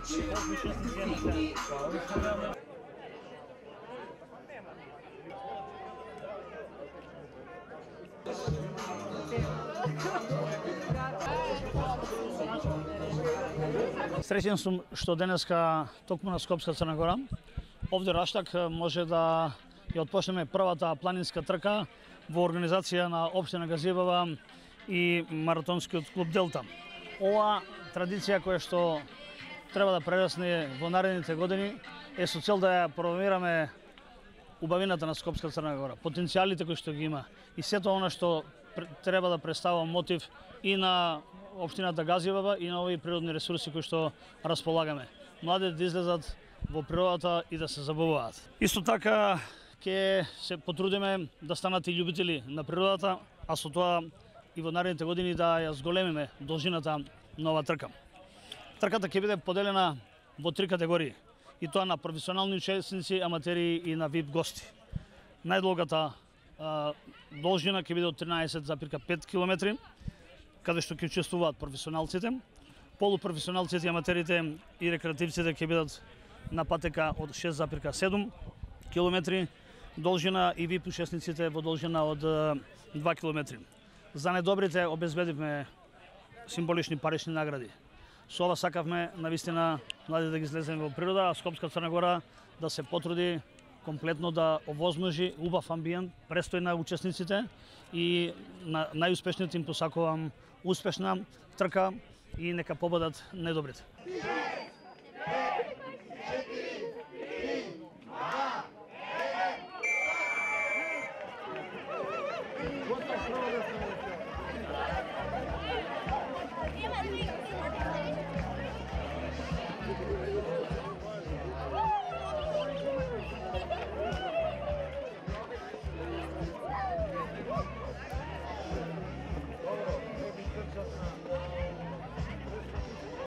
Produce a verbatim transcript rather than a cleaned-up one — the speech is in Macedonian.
Среќен сум што денеска токму на Скопска Црна Гора, овде Раштак може да ја отпочнеме првата планинска трка во организација на општина Газијабава и маратонскиот клуб Делта. Ова традиција која што треба да прерасне во наредните години е со цел да ја промовираме убавината на Скопска Црна Гора, потенцијалите кои што ги има и сето она што треба да представува мотив и на општината Газијабава и на овие природни ресурси кои што располагаме. Младите да излезат во природата и да се забавуваат. Исто така ќе се потрудиме да станат и љубители на природата, а со тоа и во наредните години да ја зголемиме должината на оваа трка. Трката ќе биде поделена во три категории, и тоа на професионални учесници, аматери и на вип гости. Најдолгата а, должина ќе биде од тринаесет запирка пет километри, каде што ќе учествуваат професионалците, полупрофесионалците, аматерите и рекреативците ќе бидат на патека од шест запирка седум километри должина и вип учесниците во должина од два километри. За недобрите обезбедивме символични парични награди. Со ова сакавме навистина младите да ги излеземе во природа, а Скопска Црна Гора да се потруди комплетно да овозможи убав амбиент, престој на учесниците и на најуспешните им посакувам успешна трка и нека победат најдобрите.